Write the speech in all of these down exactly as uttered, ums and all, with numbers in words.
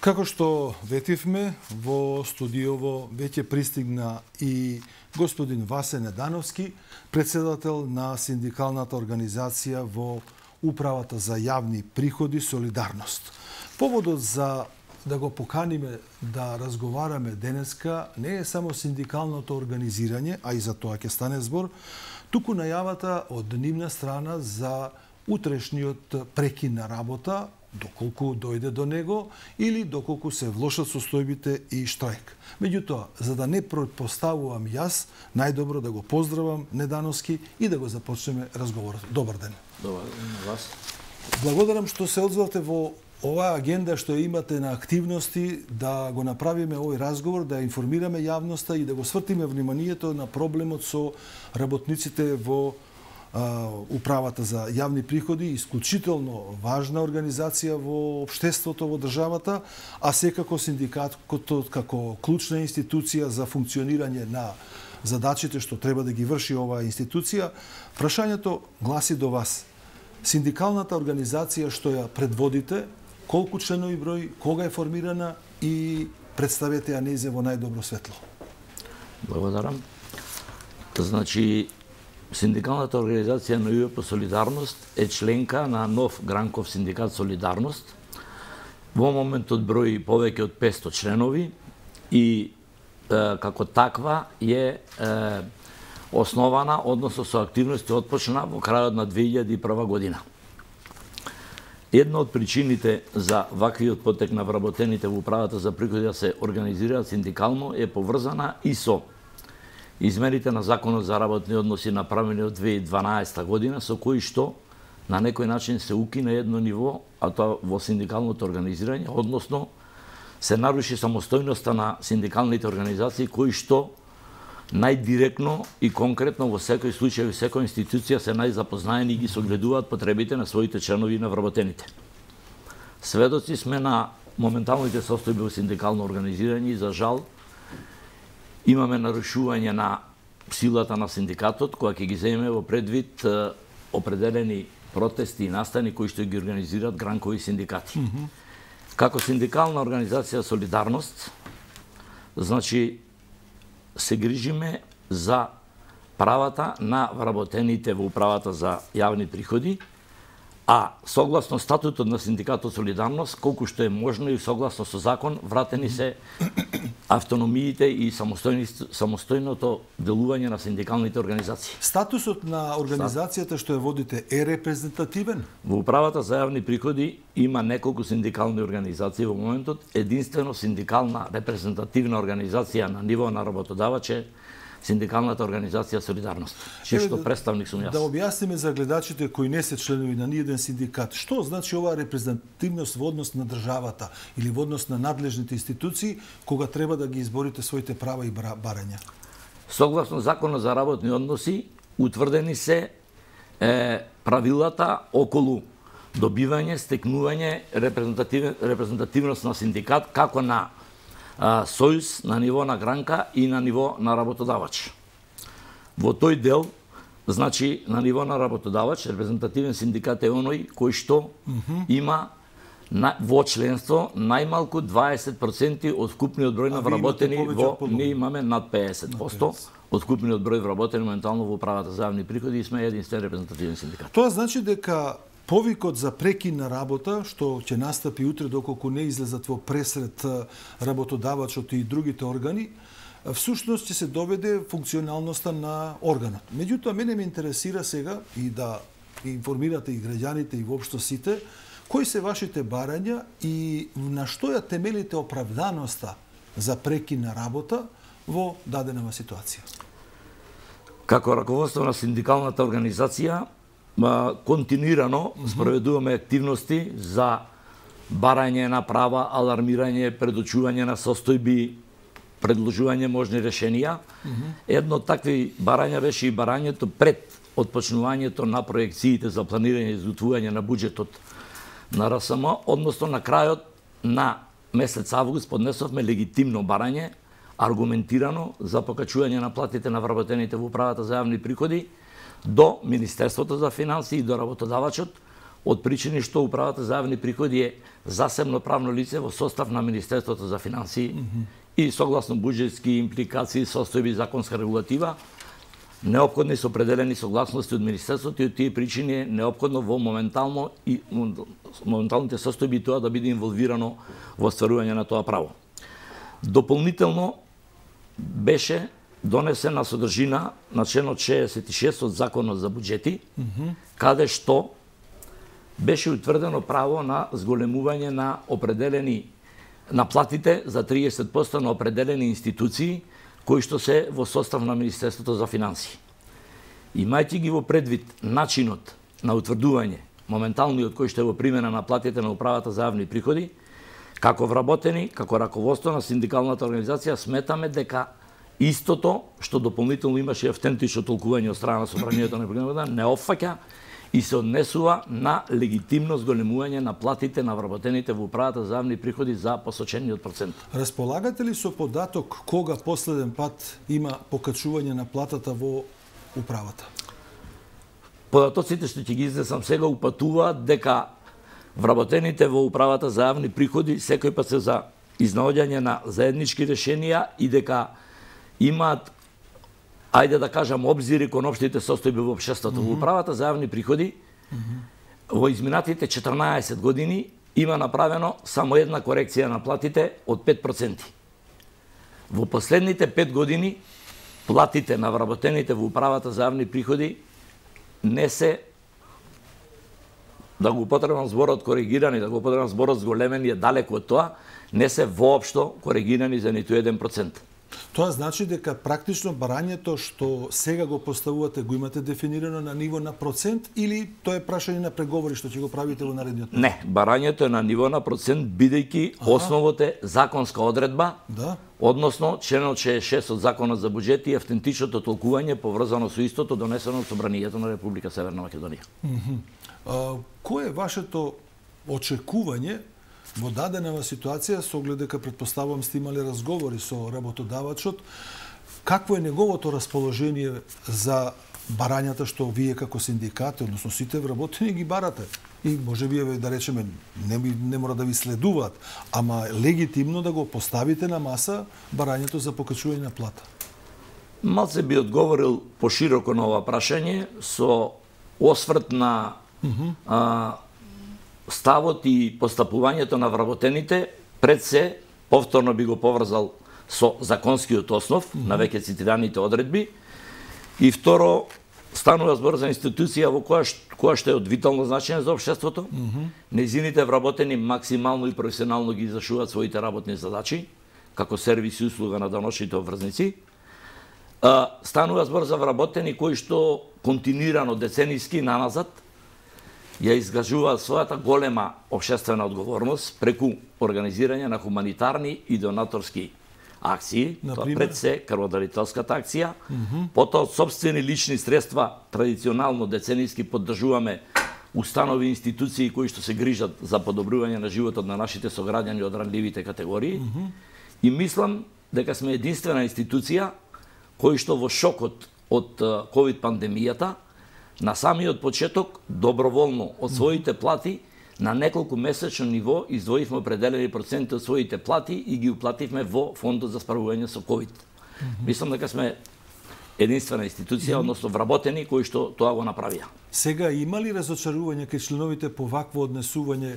Како што ветивме, во студиово веќе пристигна и господин Васе Недановски, председател на синдикалната организација во Управата за јавни приходи Солидарност. Поводот за да го поканиме да разговараме денеска не е само синдикалното организирање, а и за тоа ќе стане збор, туку најавата од нивна страна за утрешниот прекин на работа, доколку дојде до него или доколку се влошат состојбите и штрајк. Меѓутоа, за да не предпоставувам јас, најдобро да го поздравам Недановски и да го започнеме разговорот. Добар ден. Добар ден на вас. Благодарам што се одзвавте во оваа агенда што имате на активности да го направиме овој разговор, да информираме јавноста и да го свртиме вниманието на проблемот со работниците во Управата за јавни приходи, исклучително важна организација во општеството, во државата, а секако синдикатот како клучна институција за функционирање на задачите што треба да ги врши оваа институција. Прашањето гласи до вас. Синдикалната организација што ја предводите, колку членови број, кога е формирана и представете ја нејзе во најдобро светло? Благодарам. Значи, Синдикалната организација на ЮП Солидарност е членка на нов гранков синдикат Солидарност. Во моментот брои повеќе од петсто членови и е, како таква е, е основана, односно со активности отпочна во крајот на две илјади и прва година. Една од причините за ваквиот потек на вработените во Управата за приходи да се организираат синдикално е поврзана и со измените на Законот за работни односи направени од две илјади и дванаесета година, со кои што на некој начин се укина едно ниво, а тоа во синдикалното организирање, односно се наруши самостојноста на синдикалните организации кои што најдиректно и конкретно во секој случај, во секоја институција се најзапознаени и ги согледуваат потребите на своите членови и на вработените. Сведоци сме на моменталните состојби во синдикално организирање и за жал имаме нарушување на силата на синдикатот, која ќе ги земеме во предвид е, определени протести и настани кои што ги организираат гранкови синдикати. Mm -hmm. Како синдикална организација Солидарност, значи се грижиме за правата на вработените во Управата за јавни приходи, а согласно статутот на синдикатот Солидарност, колку што е можно и согласно со закон, вратени се автономиите и самостојното делување на синдикалните организации. Статусот на организацијата што ја водите е репрезентативен? Во Управата за јавни приходи има неколку синдикални организации во моментот. Единствено синдикална репрезентативна организација на ниво на работодавач е Синдикалната организација Солидарност, чиј што представник сум јас. Да објасниме за гледачите кои не се членови на ниеден синдикат, што значи оваа репрезентативност во однос на државата или во однос на надлежните институции кога треба да ги изборите своите права и барања? Согласно Законот за работни односи, утврдени се е, правилата околу добивање, стекнување репрезентативност на синдикат како на сојуз на ниво на гранка и на ниво на работодавач. Во тој дел, значи на ниво на работодавач, репрезентативен синдикат е оној кој што mm -hmm. има на, во членство најмалку дваесет проценти од вкупниот број на вработени во ние имаме над пеесет проценти од вкупниот број вработени моментално во Управата за јавни приходи и сме единствен репрезентативен синдикат. Тоа значи дека повикот за прекин на работа, што ќе настапи утре доколку не излезат во пресред работодавачот и другите органи, всушност ќе се доведе функционалноста на органот. Меѓутоа, мене ме интересира сега и да информирате и граѓаните и воопшто сите, кои се вашите барања и на што ја темелите оправданоста за прекин на работа во даденава ситуација? Како раководство на синдикалната организација, континуирано спроведуваме активности за барање на права, алармирање, предучување на состојби, предложување можни решенија. Mm -hmm. Едно од такви барања беше и барањето пред отпочнувањето на проекциите за планирање и изготвување на буџетот на Р С М, односно на крајот на месец август поднесовме легитимно барање, аргументирано за покачување на платите на вработените во Управата за јавни приходи до Министерството за финансии и до работодавачот, од причини што Управата за јавни приходи е засебно правно лице во состав на Министерството за финансии mm -hmm. и согласно буџетски импликации, состојби и законска регулатива, неопходни се определени согласности од Министерството и од тие причини е неопходно во моментално и моменталните состојби тоа да биде инволвирано во остварување на тоа право. Дополнително беше донесена содржина на членот шеесет и шест од Законот за буџети, mm -hmm. каде што беше утврдено право на зголемување на определени на платите за триесет проценти на определени институции кои што се во состав на Министерството за финансии. Имајќи ги во предвид начинот на утврдување, моменталниот кој што е во примена на платите на Управата за јавни приходи, како вработени, како раководство на синдикалната организација, сметаме дека истото што дополнително имаше автентично толкување од страна на Собранието на Републиката не опфаќа и се однесува на легитимно зголемување на платите на вработените во Управата за јавни приходи за посочениот процент. Располагате ли со податок кога последен пат има покачување на платата во Управата? Податоците што ќе ги изнесам сега упатуваат дека вработените во Управата за јавни приходи секој пат се за изнаоѓање на заеднички решенија и дека имаат, ајде да кажам, обзири кон општите состојби во општеството. Mm -hmm. Во Управата за јавни приходи mm -hmm. во изминатите четрнаесет години има направено само една корекција на платите од пет проценти. Во последните пет години платите на вработените во Управата за јавни приходи не се, да го употребам зборот коригирани, да го употребам зборот зголемени е далеку од тоа, не се воопшто коригирани за ниту еден процент. Тоа значи дека практично барањето што сега го поставувате го имате дефинирано на ниво на процент или тоа е прашање на преговори што ќе го правите во наредниот период? Не, барањето е на ниво на процент бидејќи основот е законска одредба, да. Односно членот шеесет и шест од Законот за буџети и автентичното толкување поврзано со истото донесено од Собранието на Република Северна Македонија. Mm -hmm. а, кој е вашето очекување во даденава ситуација, со оглед дека предпоставувам сте имали разговори со работодавачот, какво е неговото расположение за барањата што вие како синдикат, односно сите вработени ги барате? И може би, да речеме, не, не мора да ви следуваат, ама легитимно да го поставите на маса барањето за покачување на плата. Малце би одговорил пошироко на ова прашање со осврт на mm -hmm. а, ставот и постапувањето на вработените, пред се, повторно би го поврзал со законскиот основ, mm -hmm. на веќе цитираните одредби, и второ, станува збор за институција во која, која што е од витално значење за општеството. Mm -hmm. Нејзините вработени максимално и професионално ги извршуваат своите работни задачи, како сервис и услуга на даночните обврзници. А, станува збор за вработени кои што континуирано децениски наназад ја изгажуваат својата голема општествена одговорност преку организирање на хуманитарни и донаторски акции, тоа пред се крводарителската акција, mm -hmm. потоа од сопствени лични средства, традиционално децениски поддржуваме установи и институции кои што се грижат за подобрување на животот на нашите сограѓани од ранливите категории. Mm -hmm. И мислам дека сме единствена институција кои што во шокот од ковид пандемијата на самиот почеток доброволно од своите плати на неколку месечно ниво издвоивме определени проценти од своите плати и ги уплативме во фондот за справување со ковид. Mm -hmm. Мислам дека сме единствена институција, mm -hmm. односно вработени кои што тоа го направија. Сега има ли разочарување кај членовите по вакво однесување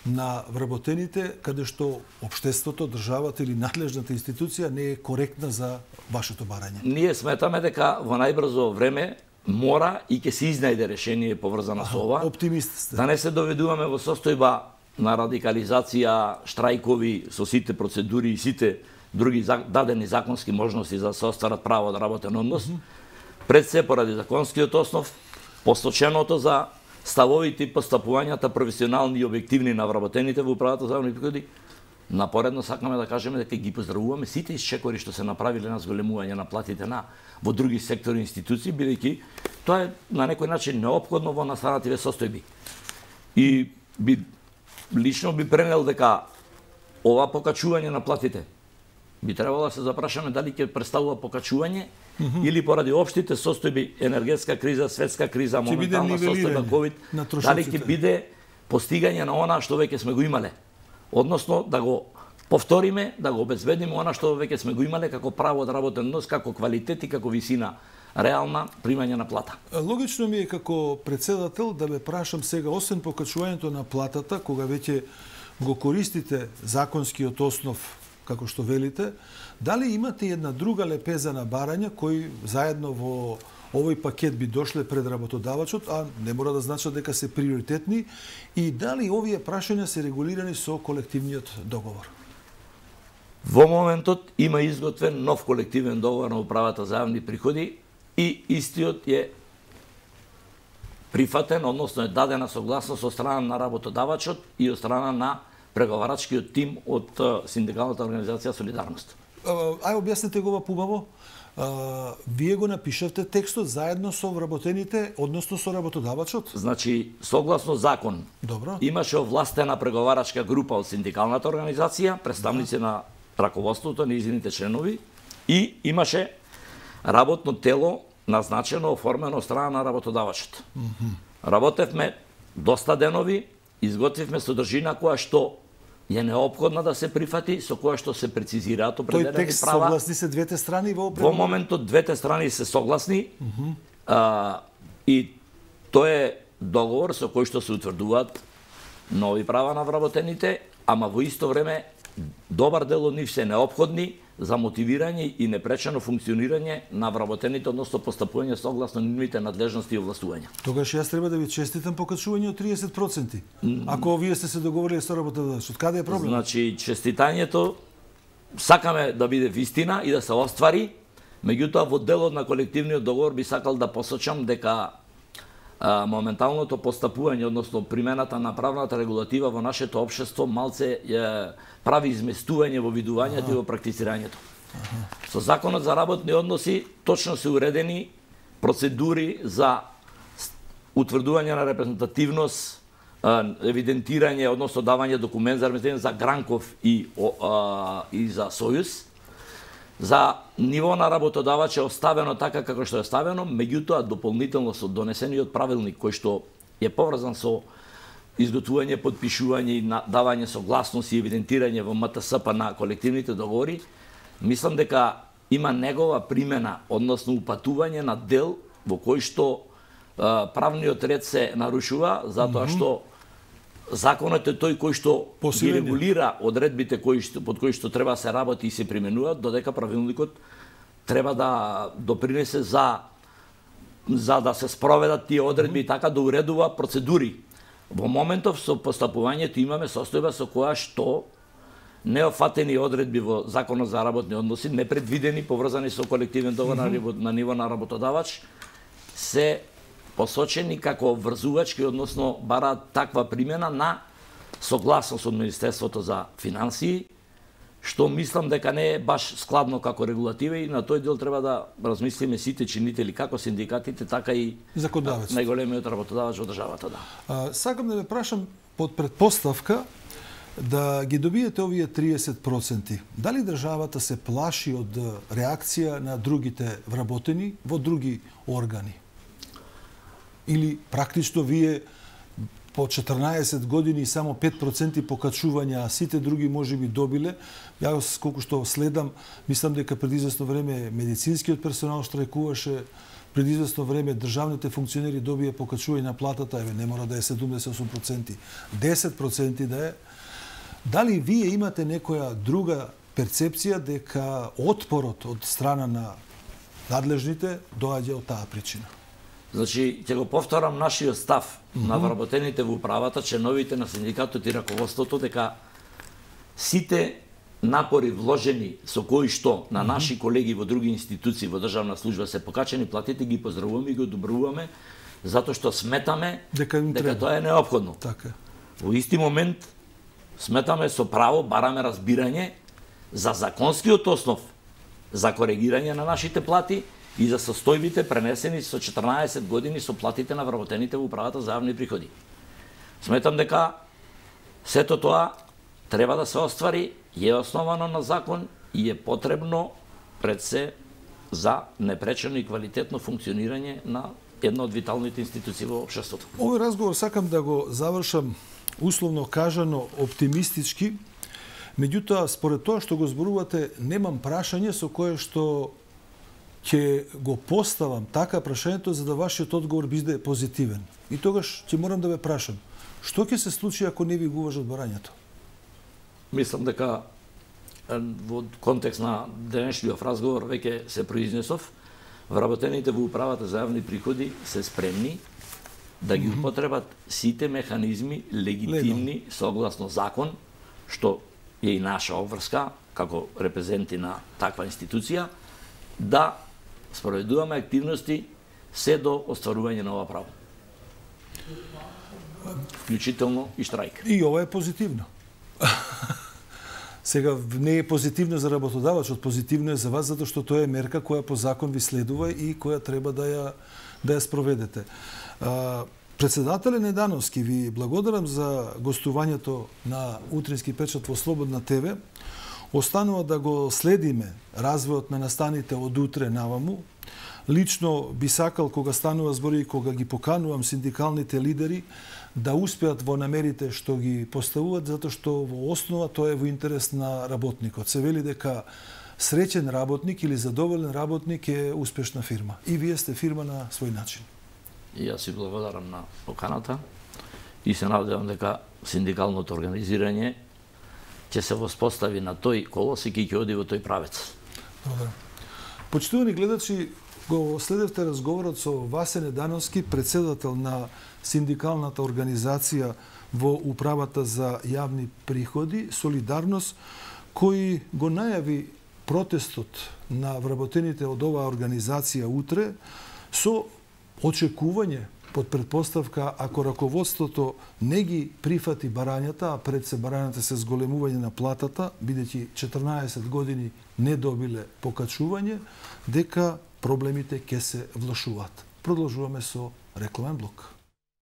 на вработените, каде што општеството, државата или надлежната институција не е коректна за вашето барање? Ние сметаме дека во најбрзо време мора и ќе се изнајде решение поврзано со ова. Оптимист сте. Да не се доведуваме во состојба на радикализација, штрајкови со сите процедури и сите други дадени законски можности за да се остварат право да работен однос. Mm -hmm. Пред се поради законскиот основ, посоченото за ставовите и постапувањата професионални и објективни на вработените во Управата за јавни приходи, напоредно сакаме да кажеме дека ги поздравуваме сите исчекори што се направиле на зголемување на платите на во други сектори и институции, бидејќи тоа е на некој начин неопходно во настанативе состојби. И би лично би пренел дека ова покачување на платите би требало да се запрашаме дали ќе представува покачување mm -hmm. или поради општите состојби, енергетска криза, светска криза, моментална состојба ковид, дали ќе биде постигање на она што веќе сме го имале. Односно да го повториме, да го обезбедиме она што веќе сме го имале како право од работен однос, како квалитет и како висина реална примање на плата. Логично ми е како председател да ве прашам сега, освен покачувањето на платата, кога веќе го користите законскиот основ, како што велите, дали имате една друга лепеза на барања кои заедно во овој пакет би дошле пред работодавачот, а не мора да значат дека се приоритетни, и дали овие прашања се регулирани со колективниот договор? Во моментот има изготвен нов колективен договор на управата за јавни приходи и истиот е прифатен, односно е дадена согласност од страна на работодавачот и од страна на преговарачкиот тим од Синдикалната организација Солидарност. Ај објасните го побаво. Вие го напишавте текстот заедно со вработените, односно со работодавачот? Значи, согласно закон, Добро. Имаше овластена преговарачка група од Синдикалната организација, представници на раководството, низините членови, и имаше работно тело назначено, оформено од страна на работодавачот. Mm -hmm. Работевме доста денови, изготвивме содржина која што е неопходна да се прифати, со која што се прецизираат определени права. Тој текст права. Согласни се двете страни во Во моментот двете страни се согласни, mm -hmm. а, и тој е договор со кој што се утврдуваат нови права на вработените, ама во исто време добар дел од нив се неопходни за мотивирање и непречено функционирање на вработените, односно постапување согласно нивните надлежности и овластувања. Тогаш јас треба да ви честитам покачување од триесет проценти. Ако вие сте се договорили со работодавачот, каде е проблем? Значи, честитањето сакаме да биде вистина и да се оствари, меѓутоа во делот на колективниот договор би сакал да посочам дека а, моменталното постапување, односно примената на правната регулатива во нашето општество малце е, прави изместување во видувањето и во практицирањето. Ага. Со Законот за работни односи точно се уредени процедури за утврдување на репрезентативност, евидентирање, односно давање документ за репрезентативност за Гранков и, а, и за Сојуз. За ниво на работодавач е оставено така како што е оставено, меѓутоа дополнително со донесениот правилник кој што е поврзан со изготвување, подпишување и давање согласност и евидентирање во М Т С П на колективните договори, мислам дека има негова примена, односно упатување на дел во кој што а, правниот ред се нарушува, затоа што законот е тој кој што ги регулира одредбите кои што, под кои што треба се работи и се применуваат, додека правилникот треба да допринесе за за да се спроведат тие одредби и така да уредува процедури. Во моментов со постапувањето имаме состојба со која што неофатени одредби во Законот за работни односи, непредвидени, поврзани со колективен договор mm -hmm. на ниво на работодавач, се посочени како врзувачки, односно бараат таква примена на согласност од Министерството за финансии, што мислам дека не е баш складно како регулатива и на тој дел треба да размислиме сите чинители, како синдикатите, така и најголемиот работодавач во државата. Да. А, сакам да ве прашам под предпоставка да ги добиете овие триесет проценти. Дали државата се плаши од реакција на другите вработени во други органи? Или практично вие по четрнаесет години само пет проценти покачувања, а сите други можеби добиле? Јас колку што следам, мислам дека пред известно време медицинскиот персонал штрајкуваше, пред известно време државните функционери добија покачување на платата, еве не мора да е седумдесет и осум проценти, десет проценти да е. Дали вие имате некоја друга перцепција дека отпорот од страна на надлежните доаѓа од таа причина? Значи, ќе го повторам нашиот став mm -hmm. на вработените во управата, членовите на синдикатот и раководството, дека сите напори вложени со кои што на наши колеги во други институции во државна служба се покачени платите, ги поздравуваме и ги одобруваме, затоа што сметаме дека, дека тоа е неопходно. Така. Во исти момент сметаме со право, бараме разбирање за законскиот основ за коригирање на нашите плати и за состојбите пренесени со четрнаесет години со платите на вработените во управата за јавни приходи. Сметам дека сето тоа треба да се оствари, е основано на закон и е потребно пред се за непречено и квалитетно функционирање на една од виталните институции во општеството. Овој разговор сакам да го завршам условно кажано оптимистички, меѓутоа според тоа што го зборувате, немам прашање со кое што ќе го поставам така прашањето за да вашиот одговор биде позитивен. И тогаш ќе морам да ве прашам, што ќе се случи ако не ви го уважат барањето? Мислам дека во контекст на денешниот разговор веќе се произнесов, вработените во управата за јавни приходи се спремни да ги употребат сите механизми легитимни согласно закон, што е и наша обврска како репрезенти на таква институција, да спроведуваме активности се до остварување на ова право. Вклучително и штрајк. И ова е позитивно. Сега не е позитивно за работодавачот, позитивно е за вас затоа што тоа е мерка која по закон ви следува и која треба да ја да ја спроведете. Председателе Недановски, ви благодарам за гостувањето на Утрински печат во Слободна ТВ. Останува да го следиме развојот на настаните од утре наваму. Лично би сакал кога станува збори и кога ги поканувам синдикалните лидери да успеат во намерите што ги поставуваат, затоа што во основа тоа е во интерес на работникот. Се вели дека среќен работник или задоволен работник е успешна фирма. И вие сте фирма на свој начин. И јас си благодарам на поканата и се надевам дека синдикалното организирање ќе се воспостави на тој колос и ќе оди во тој правец. Добро. Почитувани гледачи, го следевте разговорот со Васе Недановски, председател на синдикалната организација во управата за јавни приходи Солидарност, кој го најави протестот на вработените од оваа организација утре со очекување под предпоставка ако раководството не ги прифати барањата, а пред се барањата се зголемување на платата, бидејќи четрнаесет години не добиле покачување, дека проблемите ќе се влошуваат. Продолжуваме со рекламен блок.